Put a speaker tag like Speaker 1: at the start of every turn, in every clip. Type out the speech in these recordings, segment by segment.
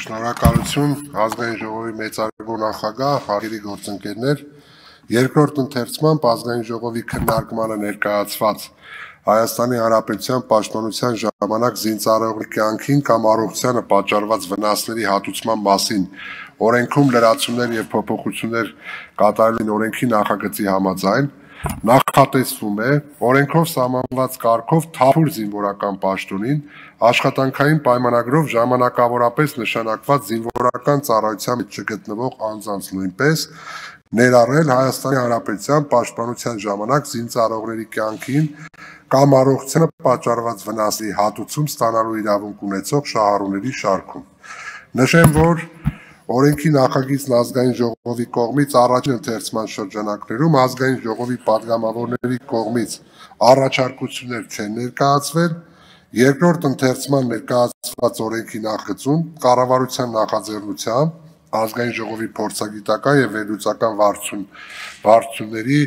Speaker 1: Շնորհակալություն ազգային ժողովի մեծարգո նախագահ, հարգելի գործընկերներ, երկրորդ ընթերցմամբ ազգային ժողովի քննարկմանը ներկայացված Հայաստանի Հանրապետության պաշտպանության ժամանակ զինծառայողի կյանքին կամ առողջությանը պատճառված վնասների հատուցման մասին օրենքում լրացումներ եւ փոփոխություններ կատարելին օրենքի նախագծի համաձայն նախատեսվում է օրենքով սահմանված կարգով թափուր զինվորական պաշտոնին աշխատանքային պայմանագրով ժամանակավորապես նշանակված զինվորական ծառայության մեջ չգտնվող անձանց նույնպես ներառել Հայաստանի Հանրապետության պաշտպանության ժամանակ զինծառայողների կյանքին կամ առողջությանը պատճառված վնասի հատուցում ստանալու իրավունք ունեցող շահառուների շարքում։ Նշեմ, որ օրենքի նախագիծն ազգային ժողովի կողմից առաջին ընթերցման շրջանակներում ազգային ժողովի падգամավորների կողմից առաջարկություններ չեն ներկայացվել, երկրորդ ընթերցման ներկայացված օրենքի նախագծում կառավարության նախաձեռնությամբ ազգային ժողովի փորձագիտական եւ վերլուծական վարչությունների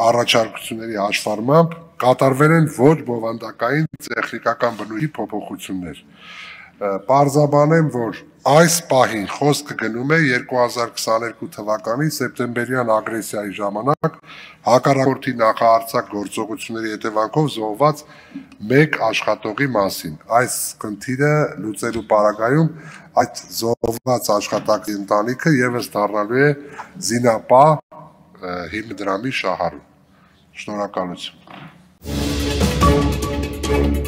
Speaker 1: առաջարկությունների հաշվառմամբ կատարվել են ոչ բովանդակային տեխնիկական բնույթի փոփոխություններ։ Պարզաբանեմ, որ այս պահին խոսքը գնում է 2022 թվականի սեպտեմբերյան ագրեսիայի ժամանակ հակառակորդի նախահարձակ գործողությունների հետևանքով զոհված մեկ աշխատողի մասին։ Այս խնդիրը լուծելու պարագայում այդ զոհված աշխատակցի ընտանիքը եւս դառնալու է զինապահ հիմնադրամի շահառու։ Շնորհակալություն։